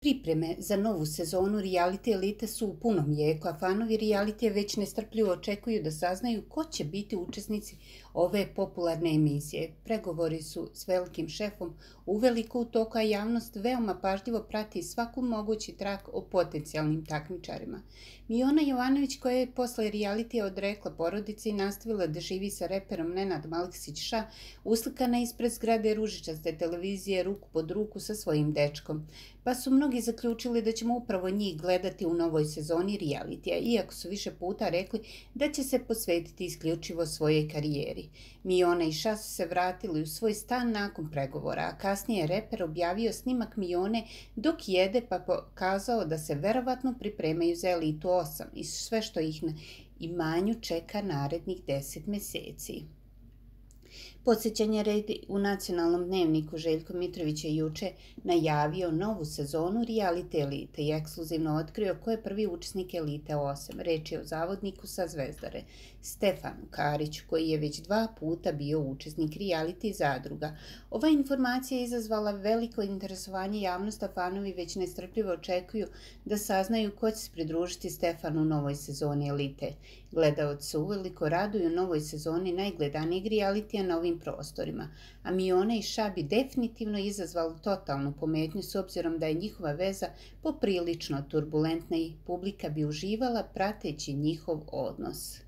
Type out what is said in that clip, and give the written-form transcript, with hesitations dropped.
Pripreme za novu sezonu reality elite su u punom jeku, a fanovi realitija već nestrpljivo očekuju da saznaju ko će biti učesnici ove popularne emisije. Pregovori su s velikim šefom uveliko u toku, a javnost veoma pažljivo prati svaku mogući trak o potencijalnim takmičarima. Miona Jovanović, koja je posle realitija odrekla porodice i nastavila da živi sa reperom Nenadom Aleksić-Ša, uslikana ispred zgrade ružičaste televizije ruku pod ruku sa svojim dečkom. Pa su mnogi zaključili da ćemo upravo njih gledati u novoj sezoni realitija, iako su više puta rekli da će se posvetiti isključivo svojoj karijeri. Miona i Ša su se vratili u svoj stan nakon pregovora, a kasnije je reper objavio snimak Mione dok jede pa pokazao da se verovatno pripremaju za Elitu 8 i sve što ih na imanju čeka narednih 10 meseci. Podsjećanje radi, u nacionalnom dnevniku Željko Mitrović je juče najavio novu sezonu reality elite i ekskluzivno otkrio ko je prvi učesnik Elite 8. Reč je o zavodniku sa Zvezdare, Stefanu Kariću, koji je već 2 puta bio učesnik reality zadruga. Ova informacija je izazvala veliko interesovanje javnosti, a fanovi već nestrpljivo očekuju da saznaju ko će se pridružiti Stefanu u novoj sezoni Elite. Gledaoci se uveliko raduju novoj sezoni najgledanijeg realitija na ovim prostorima, a Miona i Ša bi definitivno izazvali totalnu pometnju s obzirom da je njihova veza poprilično turbulentna i publika bi uživala prateći njihov odnos.